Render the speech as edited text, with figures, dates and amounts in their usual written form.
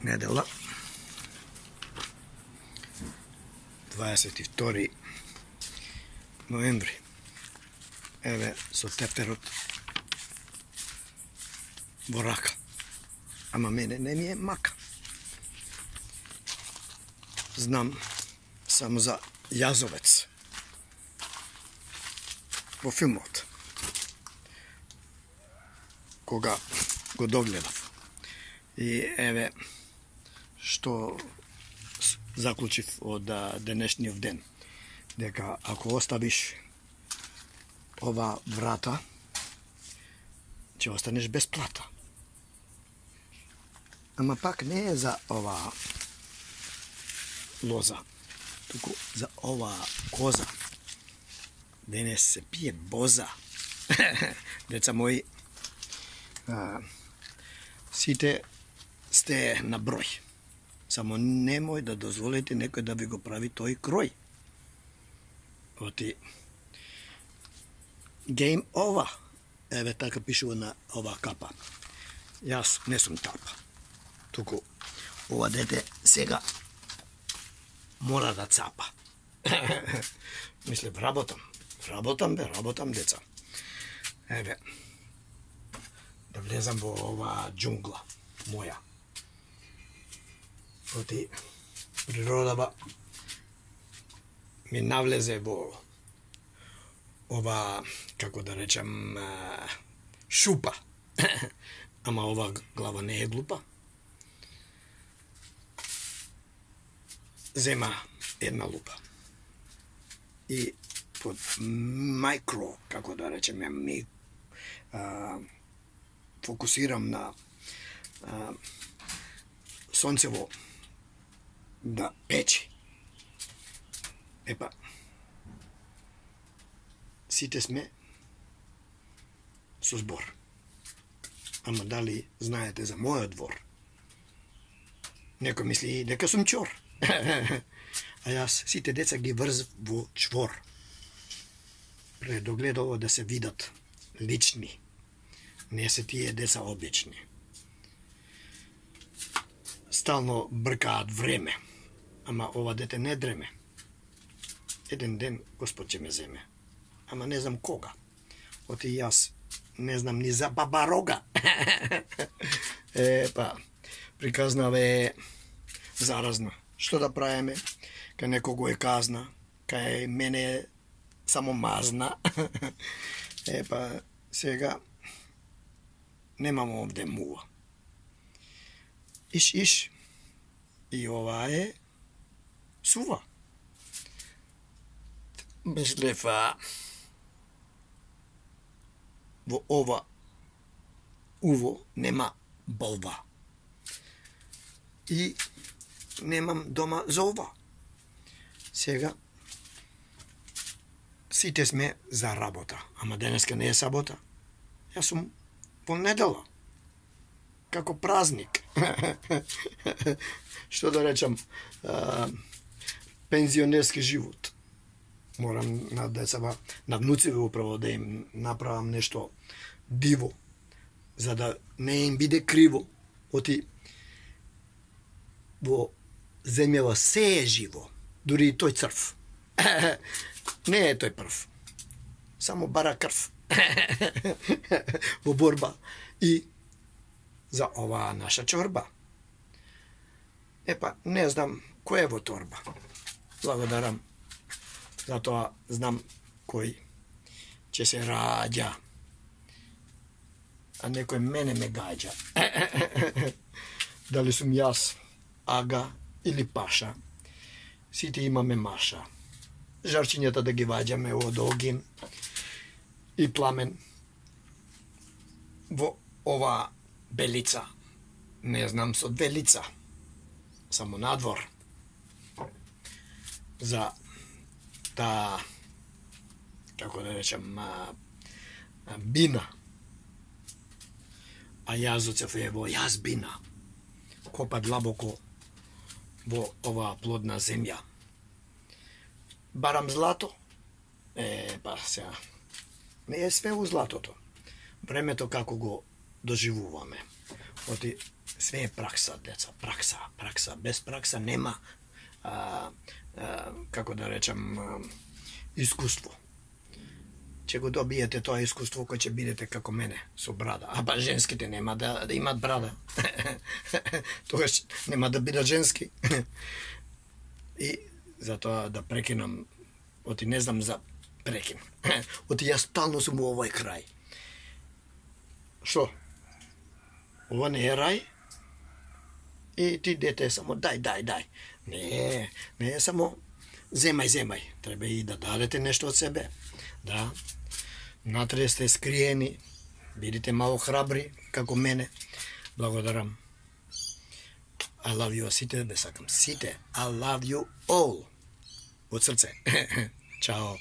недела 22 ноември. Еве со теперот во рака. Ама мене не ми е мака. Знам само за јазовец во филмот, кога го догледав. И еве што заклучив од денешниот ден, дека ако оставиш ова врата, ќе останеш без плата. Ама пак не е за ова лоза, туку за ова коза. Денес се пие боза. Деца мои, сите сте на број. Само немој да дозволите некој да ви го прави тој крој. Оти game over. Еве така пишува на ова капа. Јас не сум тапа. Туку ова дете сега мора да цапа. Мислев, работам. Работам, деца. Еве, да влезам во ова џунгла моја. Оти природава ми навлезе во ова, како да речем, шупа. Ама ова глава не е глупа. Зема една лупа. И под микро, како да речеме, ми фокусирам на сонцево да печи. Епа, сите сме со збор. Ама дали знаете за мојот двор? Некој мисли дека сум чор. А јас сите деца ги врзв во чвор. Предогледово да се видат лични. Не се тие деца обични. Стално бркаат време. Ама ова дете не дреме. Еден ден Господ ќе ме земе. Ама не знам кога. Оти јас не знам ни за баба рога. Епа, приказнава е заразна. Што да правиме? Кај некого е казна, кај мене е само мазна. Епа, сега немам овде мува. Иш. И ова е сува. Мислев, во ова уво нема болва. И немам дома за ова. Сега сите сме за работа. Ама денеска не е сабота. Јас сум во недела. Како празник. Што да речам, пензионерски живот. Морам на децава, на внуциве управо да им направам нешто диво, за да не им биде криво. Оти во земјава се е живо, дури и тој црв. Не е тој прв, само бара крв. Во борба и за оваа наша чорба. Епа, не знам кој е во торба. Благодарам. Затоа знам кој ќе се раѓа. А некој мене ме гаѓа. Дали сум јас ага или паша, сите имаме маша. Жарчињата да ги ваѓаме од огин и пламен. Во ова белица, не знам со две лица, само надвор. За таа, како да речем, бина. А јазоцев е во јазбина. Копа длабоко во оваа плодна земја. Барам злато? Па сега, не е све у златото. Времето како го доживуваме. Оти Све е пракса, деца, пракса. Без пракса нема, како да речам, искуство. Ќе го добиете тоа искуство кој ќе бидете како мене, со брада. Ба женските нема да имат брада. Тогаш нема да бидат женски. И затоа да прекинам, оти не знам за прекин. Оти јас стално сум во овој крај. Што? Ова не е рај? И ти дете само дај. Не е само земај. Треба и да дадете нешто од себе. Да. Натре сте скриени. Бидите мало храбри, како мене. Благодарам. I love you, сите бе сакам. Сите. I love you all. Од срце. Чао.